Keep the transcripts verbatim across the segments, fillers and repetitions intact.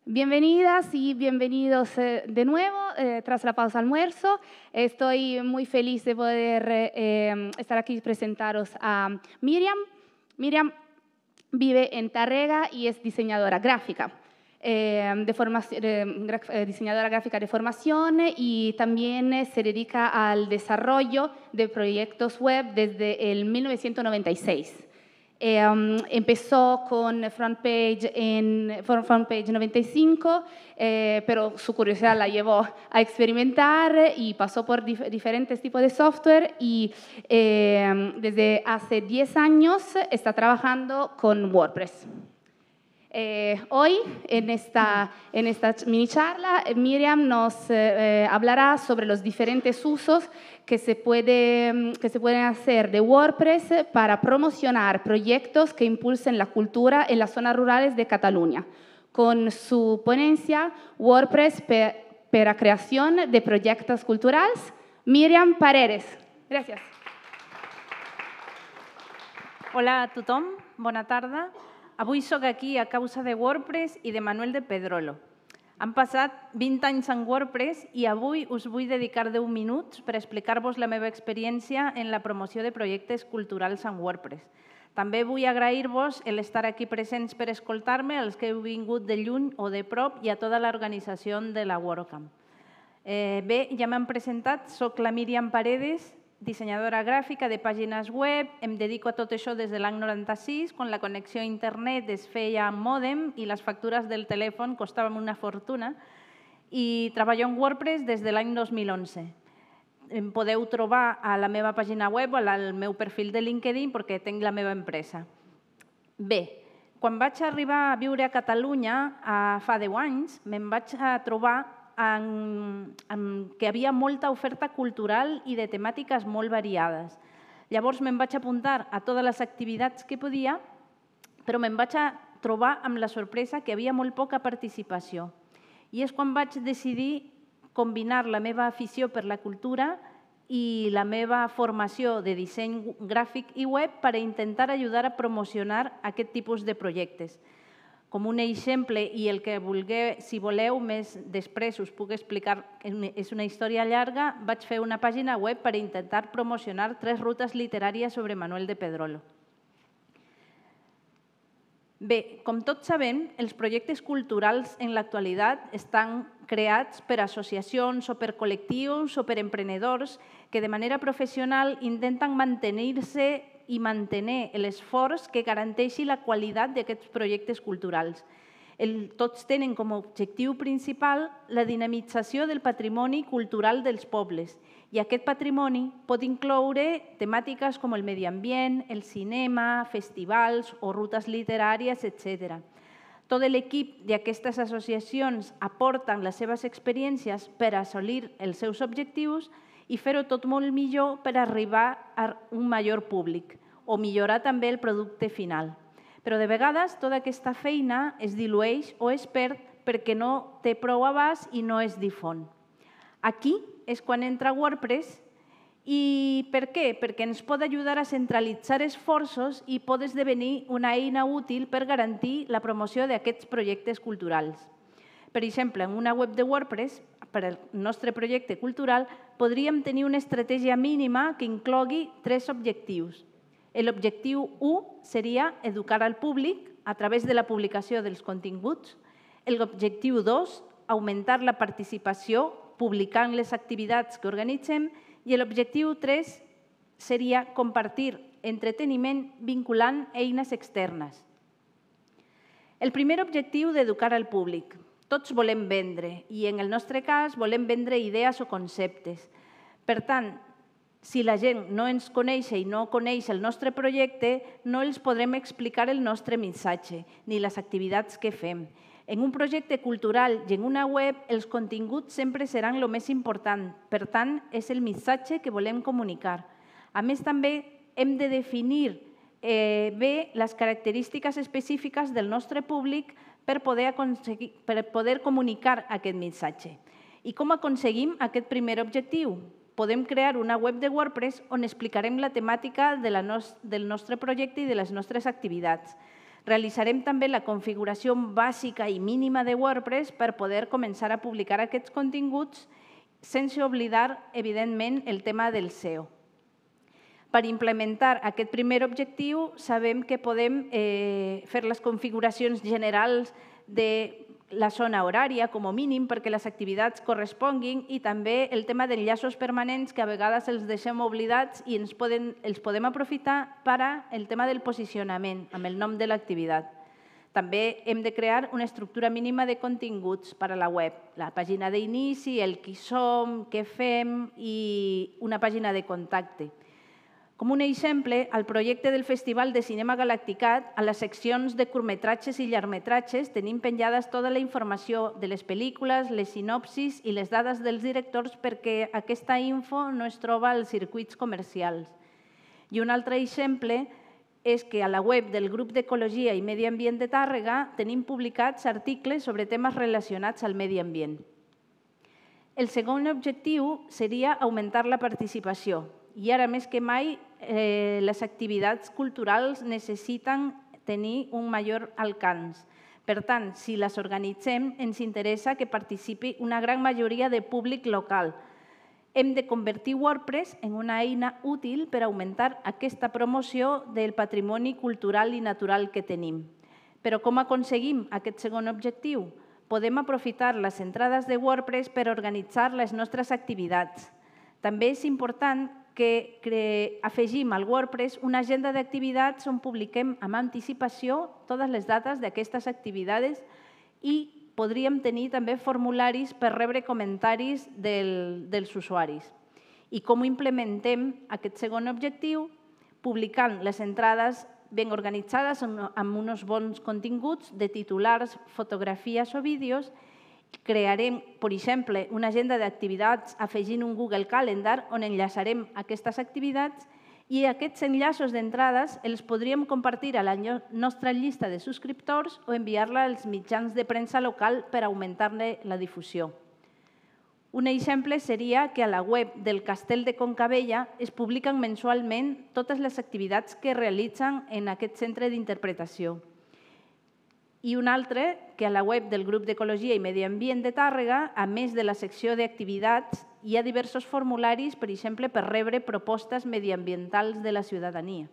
Bienvenidas y bienvenidos eh, de nuevo eh, tras la pausa almuerzo. Estoy muy feliz de poder eh, estar aquí y presentaros a Miriam. Miriam vive en Tárrega y es diseñadora gráfica, eh, de formación, eh, diseñadora gráfica de formación y también se dedica al desarrollo de proyectos web desde el mil novecientos noventa y seis. Eh, um, empezó con FrontPage en FrontPage noventa y cinco, eh, pero su curiosidad la llevó a experimentar y pasó por dif diferentes tipos de software y eh, desde hace diez años está trabajando con WordPress. Eh, hoy, en esta, en esta mini charla, Miriam nos eh, hablará sobre los diferentes usos que se, puede, que se pueden hacer de WordPress para promocionar proyectos que impulsen la cultura en las zonas rurales de Cataluña, con su ponencia WordPress per, per a creación de proyectos culturales. Miriam Paredes. Gràcies. Hola a tothom, bona tarda. Avui soc aquí a causa de WordPress i de Manuel de Pedrolo. Han passat vint anys en WordPress i avui us vull dedicar deu minuts per explicar-vos la meva experiència en la promoció de projectes culturals en WordPress. També vull agrair-vos l'estar aquí presents per escoltar-me, als que heu vingut de lluny o de prop i a tota l'organització de la WordCamp. Eh, bé, ja m'han presentat, soc la Miriam Paredes, dissenyadora gràfica de pàgines web, em dedico a tot això des de l'any noranta-sis, quan la connexió a internet es feia amb mòdem i les factures del telèfon costaven una fortuna, i treballo en WordPress des de l'any dos mil onze. Em podeu trobar a la meva pàgina web o al meu perfil de LinkedIn perquè tinc la meva empresa. Bé, quan vaig arribar a viure a Catalunya fa deu anys, me'n vaig trobar En, en que havia molta oferta cultural i de temàtiques molt variades. Llavors me'n vaig apuntar a totes les activitats que podia, però me'n vaig a trobar amb la sorpresa que havia molt poca participació. I és quan vaig decidir combinar la meva afició per la cultura i la meva formació de disseny gràfic i web per intentar ajudar a promocionar aquest tipus de projectes. Com un exemple, i el que vulgueu, si voleu, més després us puc explicar, és una història llarga, vaig fer una pàgina web per intentar promocionar tres rutes literàries sobre Manuel de Pedrolo. Bé, com tots sabem, els projectes culturals en l'actualitat estan creats per associacions o per col·lectius o per emprenedors que de manera professional intenten mantenir-se i mantenir l'esforç que garanteixi la qualitat d'aquests projectes culturals. Tots tenen com a objectiu principal la dinamització del patrimoni cultural dels pobles i aquest patrimoni pot incloure temàtiques com el medi ambient, el cinema, festivals o rutes literàries, etcètera. Tot l'equip d'aquestes associacions aporten les seves experiències per assolir els seus objectius i fer-ho tot molt millor per arribar a un major públic o millorar també el producte final. Però de vegades tota aquesta feina es dilueix o es perd perquè no té prou abast i no es difon. Aquí és quan entra WordPress i per què? Perquè ens pot ajudar a centralitzar esforços i pot esdevenir una eina útil per garantir la promoció d'aquests projectes culturals. Per exemple, en una web de WordPress, per al nostre projecte cultural, podríem tenir una estratègia mínima que inclogui tres objectius. L'objectiu u seria educar al públic a través de la publicació dels continguts. L'objectiu dos, augmentar la participació publicant les activitats que organitzem. I l'objectiu tres seria compartir entreteniment vinculant eines externes. El primer objectiu d'educar al públic. Tots volem vendre i en el nostre cas volem vendre idees o conceptes. Per tant, si la gent no ens coneix i no coneix el nostre projecte, no els podrem explicar el nostre missatge ni les activitats que fem. En un projecte cultural i en una web, els continguts sempre seran el més important. Per tant, és el missatge que volem comunicar. A més, també hem de definir bé les característiques específiques del nostre públic per poder comunicar aquest missatge. I com aconseguim aquest primer objectiu? podem crear una web de WordPress on explicarem la temàtica de la nos del nostre projecte i de les nostres activitats. Realitzarem també la configuració bàsica i mínima de WordPress per poder començar a publicar aquests continguts sense oblidar, evidentment, el tema del S E O. Per implementar aquest primer objectiu, sabem que podem eh, fer les configuracions generals de la zona horària, com a mínim, perquè les activitats corresponguin, i també el tema d'enllaços permanents, que a vegades els deixem oblidats i ens poden, els podem aprofitar per al tema del posicionament, amb el nom de l'activitat. També hem de crear una estructura mínima de continguts per a la web, la pàgina d'inici, el qui som, què fem i una pàgina de contacte. Com un exemple, al projecte del Festival de Cinema Galacticat, a les seccions de curtmetratges i llargmetratges tenim penjades tota la informació de les pel·lícules, les sinopsis i les dades dels directors perquè aquesta info no es troba als circuits comercials. I un altre exemple és que a la web del Grup d'Ecologia i Medi Ambient de Tàrrega tenim publicats articles sobre temes relacionats al medi ambient. El segon objectiu seria augmentar la participació. I ara més que mai, eh, les activitats culturals necessiten tenir un major alcance. Per tant, si les organitzem, ens interessa que participi una gran majoria de públic local. Hem de convertir WordPress en una eina útil per augmentar aquesta promoció del patrimoni cultural i natural que tenim. Però com aconseguim aquest segon objectiu? Podem aprofitar les entrades de WordPress per organitzar les nostres activitats. També és important que afegim al WordPress una agenda d'activitats on publiquem amb anticipació totes les dates d'aquestes activitats i podríem tenir també formularis per rebre comentaris dels usuaris. I com implementem aquest segon objectiu? Publicant les entrades ben organitzades amb uns bons continguts de titulars, fotografies o vídeos. Crearem, per exemple, una agenda d'activitats afegint un Google Calendar on enllaçarem aquestes activitats i aquests enllaços d'entrades els podríem compartir a la nostra llista de subscriptors o enviar-la als mitjans de premsa local per augmentar-ne la difusió. Un exemple seria que a la web del Castell de Concabella es publiquen mensualment totes les activitats que realitzen en aquest centre d'interpretació. I un altre, que a la web del Grup d'Ecologia i Medi Ambient de Tàrrega, a més de la secció d'activitats, hi ha diversos formularis, per exemple, per rebre propostes mediambientals de la ciutadania.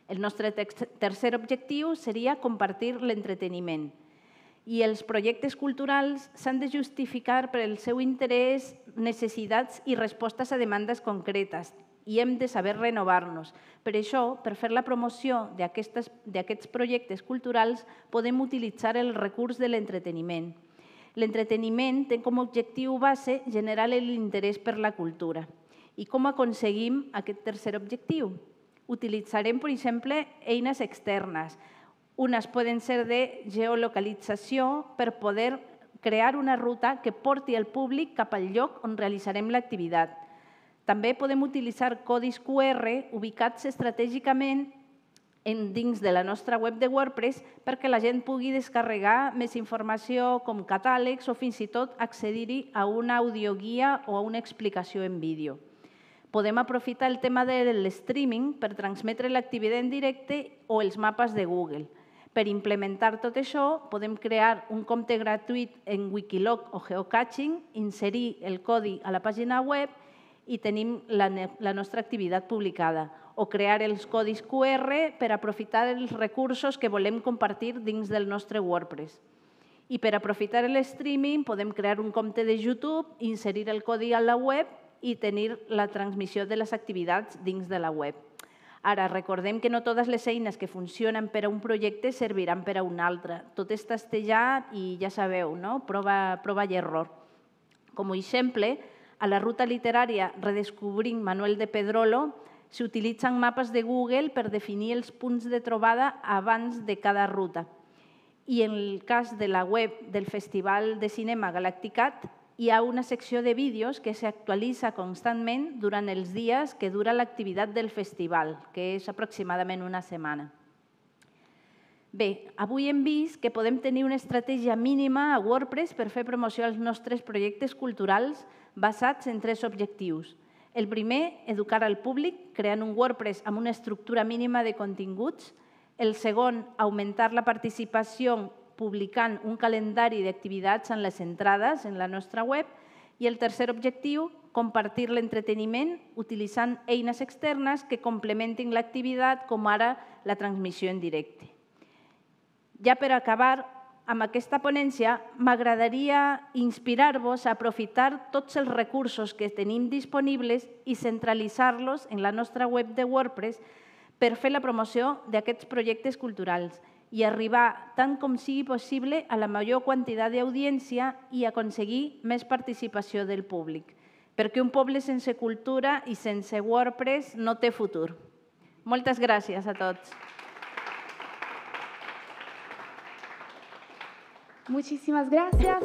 El nostre tercer objectiu seria compartir l'entreteniment. I els projectes culturals s'han de justificar per el seu interès, necessitats i respostes a demandes concretes, i hem de saber renovar-nos. Per això, per fer la promoció d'aquests projectes culturals, podem utilitzar el recurs de l'entreteniment. L'entreteniment té com a objectiu base generar l'interès per la cultura. I com aconseguim aquest tercer objectiu? Utilitzarem, per exemple, eines externes. Unes poden ser de geolocalització per poder crear una ruta que porti el públic cap al lloc on realitzarem l'activitat. També podem utilitzar codis Q R ubicats estratègicament dins de la nostra web de WordPress perquè la gent pugui descarregar més informació com catàlegs o fins i tot accedir-hi a una audioguia o a una explicació en vídeo. Podem aprofitar el tema de l'streaming per transmetre l'activitat en directe o els mapes de Google. Per implementar tot això, podem crear un compte gratuït en Wikiloc o Geocaching, inserir el codi a la pàgina web i tenim la nostra activitat publicada, o crear els codis Q R per aprofitar els recursos que volem compartir dins del nostre WordPress. I per aprofitar el streaming podem crear un compte de YouTube, inserir el codi a la web i tenir la transmissió de les activitats dins de la web. Ara, recordem que no totes les eines que funcionen per a un projecte serviran per a un altre. Tot és testejar i ja sabeu, no? Prova, prova i error. Com a exemple, a la ruta literària Redescobrint Manuel de Pedrolo s'utilitzen mapes de Google per definir els punts de trobada abans de cada ruta. I en el cas de la web del Festival de Cinema Galacticat hi ha una secció de vídeos que s'actualitza constantment durant els dies que dura l'activitat del festival, que és aproximadament una setmana. Bé, avui hem vist que podem tenir una estratègia mínima a WordPress per fer promoció als nostres projectes culturals basats en tres objectius. El primer, educar al públic, creant un WordPress amb una estructura mínima de continguts. El segon, augmentar la participació publicant un calendari d'activitats en les entrades en la nostra web. I el tercer objectiu, compartir l'entreteniment utilitzant eines externes que complementin l'activitat, com ara la transmissió en directe. Ja per acabar amb aquesta ponència, m'agradaria inspirar-vos a aprofitar tots els recursos que tenim disponibles i centralitzar-los en la nostra web de WordPress per fer la promoció d'aquests projectes culturals i arribar, tant com sigui possible, a la major quantitat d'audiència i aconseguir més participació del públic, perquè un poble sense cultura i sense WordPress no té futur. Moltes gràcies a tots. Muchísimas gracias.